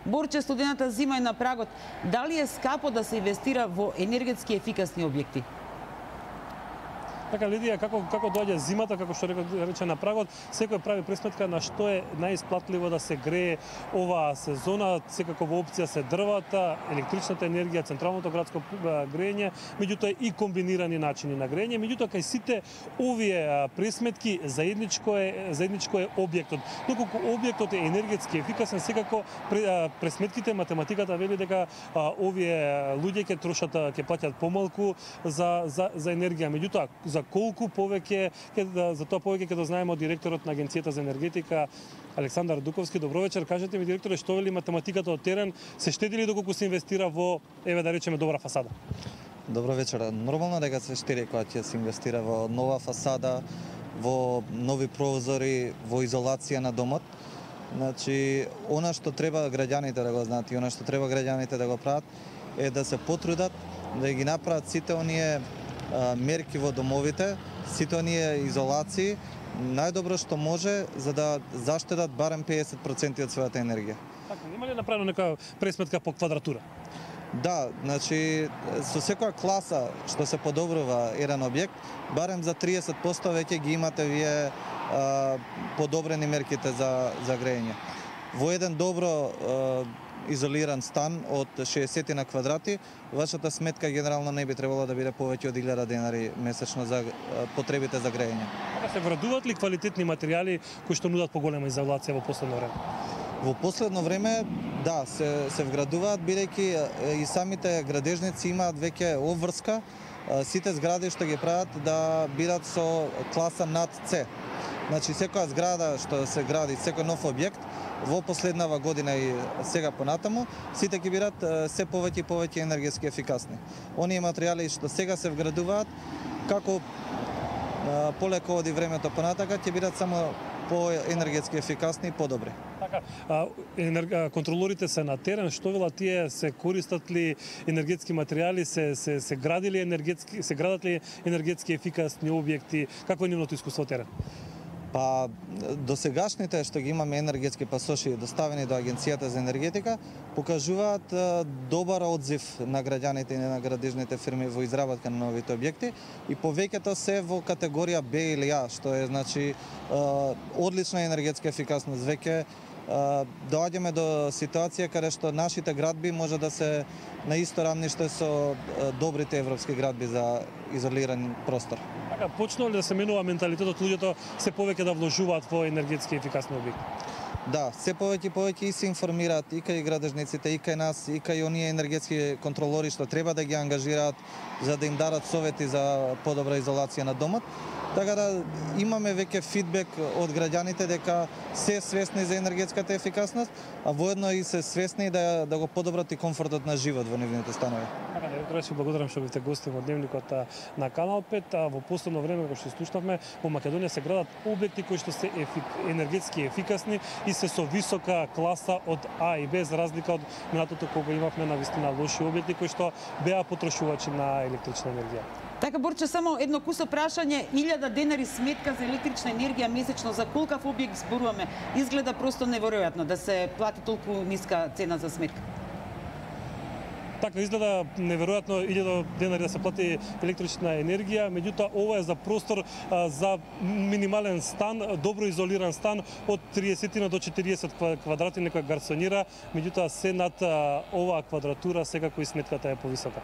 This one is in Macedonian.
Борче, студената зима е на прагот. Дали е скапо да се инвестира во енергетски ефикасни објекти? Така, Лидија, како доаѓа зимата, како што рече на прагот, секој прави пресметка на што е најисплатливо да се грее оваа сезона. Секако во опција се дрвата, електричната енергија, централното градско грење, меѓутоа и комбинирани начини на грење. Меѓутоа, кај сите овие пресметки заедничко е објектот. Доколку објектот е енергетски ефикасен, секако пресметките, математиката вели дека овие луѓе ќе трошат, ќе плаќаат помалку за енергија. Меѓутоа, за колку повеќе, за тоа повеќе ќе дознаеме од директорот на Агенцијата за енергетика Александар Дуковски. Добро вечер, кажете ми, директоре, што вели математиката од терен, се штеди ли доколку се инвестира во, еве да речеме, добра фасада? Добро вечер. Нормално дека се штеди кога ќе се инвестира во нова фасада, во нови прозори, во изолација на домот. Значи, она што треба граѓаните да го знаат и она што треба граѓаните да го прават е да се потрудат да ги направат сите оние мерки во домовите, сите оние изолации, најдобро што може за да заштедат барем 50% од својата енергија. Така, има ли направено нека пресметка по квадратура? Да, значи со секоја класа што се подобрува еден објект, барем за 30% веќе ги имате вие подобрени мерките за грење. Во еден добро изолиран стан од 60 на квадрати, вашата сметка генерално не би требало да биде повеќе од 1000 денари месечно за потребите за грење. Се вградуваат ли квалитетни материјали кои што нудат поголема изолација во последно време? Во последно време, да, се вградуваат, бидејќи и самите градежници имаат веќе обврска, сите згради што ги прават да бидат со класа над С. Значи, секоја зграда што се гради, секој нов објект, во последнава година и сега понатаму, сите ќе бидат се повеќе и повеќе енергетски ефикасни. Оние материјали што сега се вградуваат, како полеко оди времето понатака, ќе бидат само по-енергетски ефикасни и подобри. Така, контролорите се на терен, што велат тие, се користат ли енергетски материјали, се градат ли енергетски ефикасни објекти, какво е нивното искуство терен? Па, досегашните што ги имаме енергетски пасоши доставени до Агенцијата за енергетика покажуваат добар одзив на граѓаните и на градежните фирми во изработка на новите објекти и повеќето се во категорија Б или А, што е значи одлична енергетска ефикасност. Веќе доаѓаме до ситуација каде што нашите градби може да се на исто рамниште со добрите европски градби за изолиран простор. Така, почнува ли да се менува менталитетот, луѓето се повеќе да вложуваат во енергетски ефикасни објекти? Да, се повеќе и повеќе и се информираат и кај градежниците, и кај нас, и кај оние енергетски контролори што треба да ги ангажираат за да им дадат совети за подобра изолација на домот. Така да имаме веќе фидбек од граѓаните дека се свесни за енергетската ефикасност, а воедно и се свесни да го подобрат и комфортот на живот во нивните станови. Така, директоре, се благодарам што бевте гости во дневникот на Канал 5. Во последно време, како што слушнавме, во Македонија се градат објекти кои што се енергетски ефикасни и се со висока класа од А и Б, за разлика од минатото кога имавме навистина лоши објекти кои што беа потрошувачи на електрична енергија. Така, Борче, само едно кусо прашање, 1000 денари сметка за електрична енергија месечно, за колкав објект зборуваме? Изгледа просто неверојатно да се плати толку ниска цена за сметка. Така, изгледа неверојатно 1000 денари да се плати електрична енергија, меѓутоа ова е за простор за минимален стан, добро изолиран стан од 30 до 40 квадрати, некој гарсонира, меѓутоа се над оваа квадратура секако и сметката е повисока.